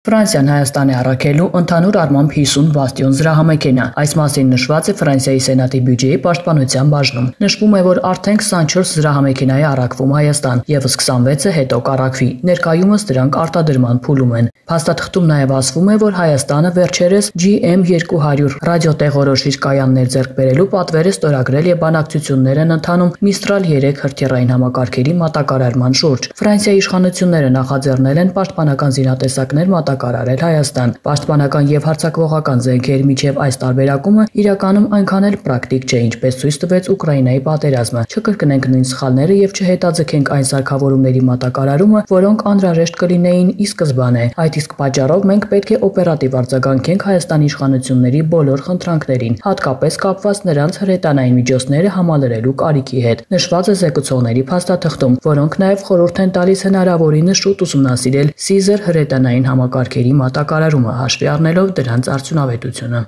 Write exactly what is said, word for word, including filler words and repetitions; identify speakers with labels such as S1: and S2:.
S1: Ֆրանսիան Հայաստանի առաքելու ընդհանուր առմամբ հիսուն բաստիոն զրահամեքենա։ Այս մասին նշված է Ֆրանսիայի Սենատի բյուջեի պաշտպանության բաժնում։ Նշվում է, որ արդեն քսանչորս զրահամեքենա է առաքվում Հայաստան, եւս քսանվեցը հետո կառաքվի։ Ներկայումս դրանք արտադրման փուլում են։ Փաստաթղթում նաև ասվում է, որ Հայաստանը վերջերս G M երկու հարյուր ռադիոտեղորոշիչ կայաններ ձեռք բերելու պատվեր է ստորագրել եւ բանակցություններ են ընթանում Միստրալ երեք հրթիռային համակարգերի մատակարարման շուրջ։ Ֆրանսիայի իշխանությունները նախաձեռնել են պաշտպանական զինատեսակներ մատակարարել Հայաստան։ Պաշտպանական եւ հարձակվողական զենքերի միջև այս տարբերակումը իրականում այնքան էլ պրակտիկ չէ, ինչպես ցույց տվեց Ուկրաինայի պատերազմը։ Չկրկնենք նույն սխալները եւ չհետաձգենք այն սարքավորումների մատակարարումը, որոնք անհրաժեշտ կլինեին ի սկզբանե։ Այդ իսկ պատճառով մենք պետք է օպերատիվ արձագանքենք Հայաստանի իշխանությունների բոլոր խնդրանքներին, հատկապես կապված նրանց հրետանային միջոցները համալրելու կարիքի հետ։ Նշված է զեկուցողների փաստաթղթում, որոնք նաև խորհուրդ են տալիս հնարավորինս շուտ ուսումնասիրել Caesar հրետանային համակարգերի մատակարարումը, հաշվի առնելով դրանց արդյունավետությունը։